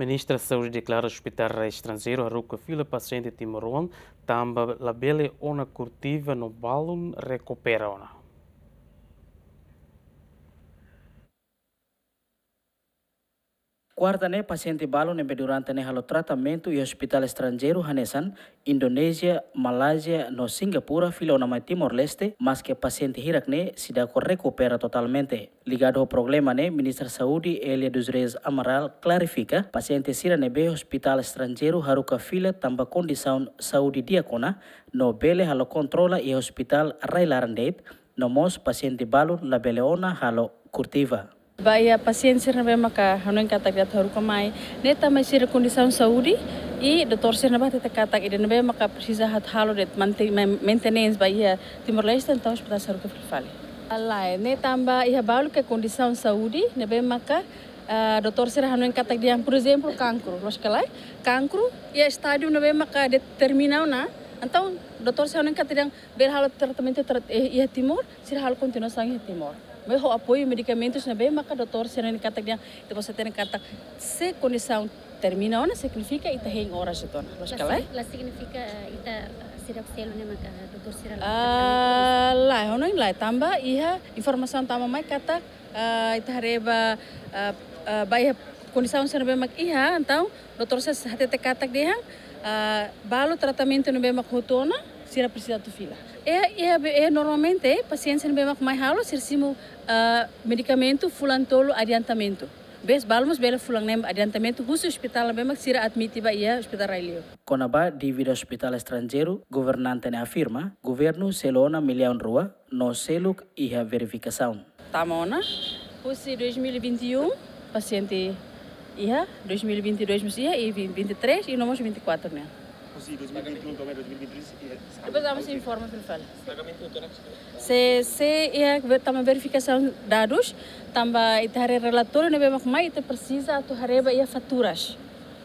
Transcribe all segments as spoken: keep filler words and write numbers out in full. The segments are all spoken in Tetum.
Ministra Saúde deklara ospitál rai estranjeiru haruka fila pasiente timoroan tanba labele ona kurtiva no balun rekupera ona. Kuarta ne'e pasiente balu ne'ebé durante ne'e halo tratamentu iha ospitál estranjeiru hanesan Indonézia, Malázia no Singapura fila ona mai Timor-Leste, maske pasiente hirak ne'e seidauk rekupera totalmente. Ligadu ho problema ne'e, Ministra Saúde Elia dos Reis Amaral klarifika, pasiente sira ne'ebé ospitál estranjeiru haruka fila tanba kondisaun saúde di'ak ona, no bele halo kontrola iha ospitál rai-laran de'it, no mós pasiente balu labele ona halo kurtiva. Ba iha pasiente sira ne'ebé maka hanoin katak atu haruka mai, ne'e tanba sira kondisaun saúde, i doutór sira ne'ebá hatete katak ida ne'ebé maka presiza atu halo de'it mante-, men-, maintenance ba iha Timor-Leste, entaun ospitál sei haruka fila fali. Lae, ne'e tanba iha balu ke kondisaun saúde ne'ebé maka, ah, doutór sira hanoin katak dehan, por ezemplu, kankru, loos ka lae? Kankru iha estádiu ne'ebé maka determina ona, entaun doutór sira hanoin katak dehan bele halo tratamentu tra-, eh, iha Timor, sira halo kontinuasaun iha Timor. Maibé ho apoiu medikamentus ne'ebé maka doutór sira hanoin katak dehan, ita-boot hatene katak se kondisaun termina ona, signifika ita hein oras hotu ona. Loos ka lae? La sig-, la signifika, eh, ita, eh, sira selu ne'e maka doutór sira la. Ah, lae, hanoin lae, tanba iha informasaun tama mai katak, ah, ita haree ba, ah, ah, ba iha kondisaun sira ne'ebé mak iha, entaun doutór sira hatete katak dehan, ah, balu tratamentu ne'ebé mak hotu ona, sira presiza atu fila. E, e, e normalmente pasiente ne'ebé mak mai halo, sira simu, ah, medikamentu fulan tolu adiantamentu. Maibé balu mós bele fulan neen adiantamentu husi ospitál ne'ebé mak sira admite ba iha ospitál rai-li'ur. Kona-ba dívida ospitál estranjeiru, governante ne'e afirma, governu selu ona millaun rua, no seluk iha verifikasaun. Tama ona, husi dois mil e vinte e um, pasiente iha, dois mil e vinte e dois mós iha, i vin-, vinte e três, i no mós vinte e quatro ne'e. Husi dois mil e vinte e um to'o dois mil e vinte e três, iha. Depois vamos informa fila fali. Se, se iha ve-, tama verifikasaun dadus, tanba ita haree relatóriu ne'ebé mak mai, ita presiza atu haree ba iha faturas.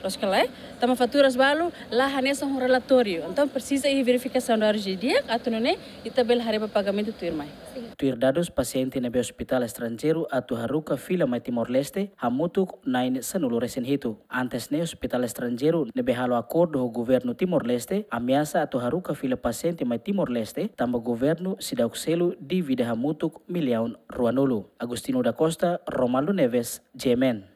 Loos ka lae? Tanba faturas balu la hanesan ho relatóriu. Entaun presiza iha verifikasaun dadus didi'ak, atu nune'e ita bele haree ba pagamentu tuirmai. Tuir dadus pasiente ne'ebé ospitál estranjeiru atu haruka fila mai Timor-Leste, hamutuk na'in sanulu resin hitu. Antes ne'e ospitál estranjeiru ne'ebé halo akordu ho governu Timor-Leste, ameasa atu haruka fila pasiente mai Timor-Leste, tanba governu seidauk selu dívida hamutuk millaun ruanulu. Agostinho da Costa, Romaldo Neves, G M N.